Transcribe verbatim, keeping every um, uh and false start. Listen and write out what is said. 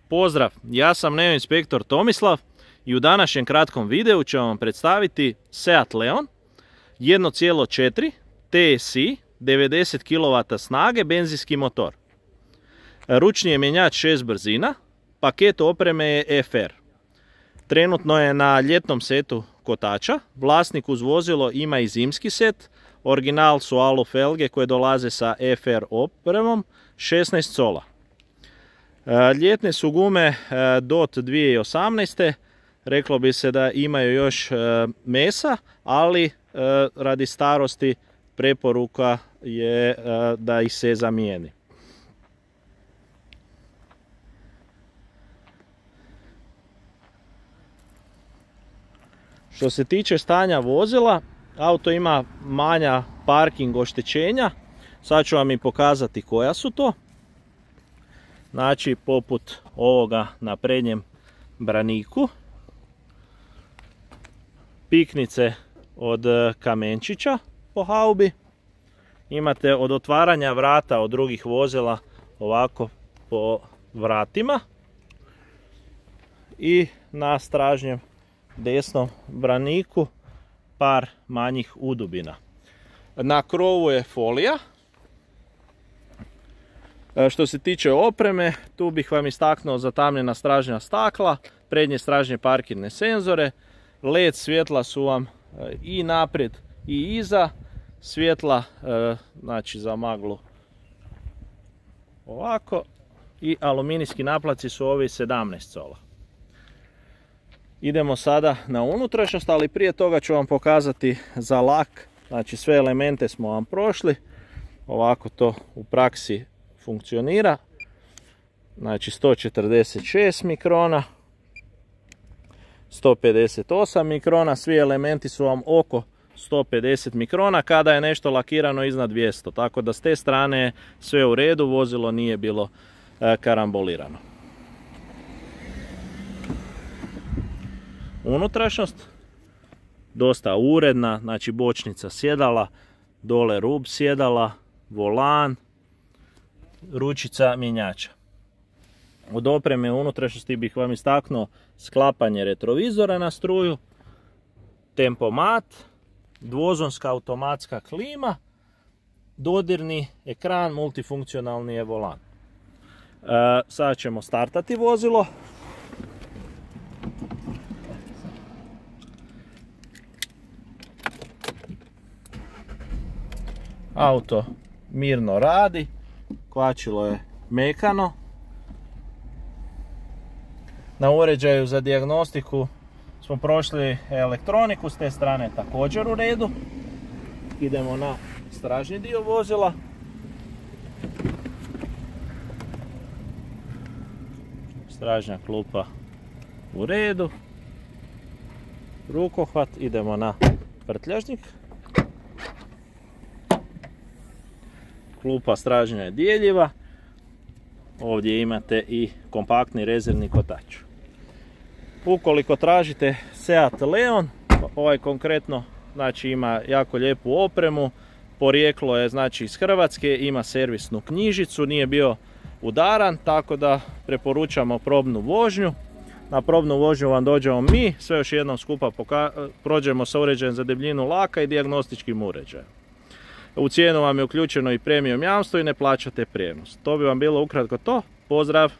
Pozdrav, ja sam Neo inspektor Tomislav i u današnjem kratkom videu ću vam predstaviti Seat Leon jedan zarez četiri T S I devedeset kilovata snage benzinski motor. Ručni je mjenjač šest brzina, paket opreme je F R. Trenutno je na ljetnom setu kotača, vlasnik uz vozilo ima i zimski set, original su alu felge koje dolaze sa F R opremom šesnaest cola. Ljetne su gume D O T dvije tisuće osamnaeste. Reklo bi se da imaju još mesa, ali radi starosti preporuka je da ih se zamijeni. Što se tiče stanja vozila, auto ima manja parking oštećenja. Sad ću vam i pokazati koja su to. Znači, poput ovoga na prednjem braniku. Piknice od kamenčića po haubi. Imate od otvaranja vrata od drugih vozila ovako po vratima. I na stražnjem desnom braniku par manjih udubina. Na krovu je folija. Što se tiče opreme, tu bih vam istaknuo zatamnjena stražnja stakla, prednje stražnje parkirne senzore, L E D svjetla su vam i naprijed i iza, svjetla znači za maglu ovako i aluminijski naplaci su ovi sedamnaest cola. Idemo sada na unutrašnjost, ali prije toga ću vam pokazati za lak, znači sve elemente smo vam prošli, ovako to u praksi funkcionira. Znači sto četrdeset šest mikrona, sto pedeset osam mikrona, svi elementi su vam oko sto pedeset mikrona kada je nešto lakirano iznad dvjesto, tako da s te strane sve u redu, vozilo nije bilo karambolirano. Unutrašnjost dosta uredna, znači bočnica sjedala, dole rub sjedala, volan, ručica mjenjača. Od opreme unutrašnjosti bih vam istaknuo sklapanje retrovizora na struju, tempomat, dvozonska automatska klima, dodirni ekran, multifunkcionalni je volan. E, sada ćemo startati vozilo. Auto mirno radi, kvačilo je mekano. Na uređaju za dijagnostiku smo prošli elektroniku, s te strane također u redu. Idemo na stražnji dio vozila. Stražnja klupa u redu. Rukohvat, idemo na prtljažnik. Klupa stražnja je dijeljiva. Ovdje imate i kompaktni rezervni kotač. Ukoliko tražite Seat Leon, ovaj konkretno znači ima jako lijepu opremu, porijeklo je znači iz Hrvatske, ima servisnu knjižicu, nije bio udaran, tako da preporučamo probnu vožnju. Na probnu vožnju vam dođemo mi, sve još jednom skupa prođemo sa uređajem za debljinu laka i dijagnostičkim uređajem. U cijenu vam je uključeno i premium jamstvo i ne plaćate prijenos. To bi vam bilo ukratko to. Pozdrav!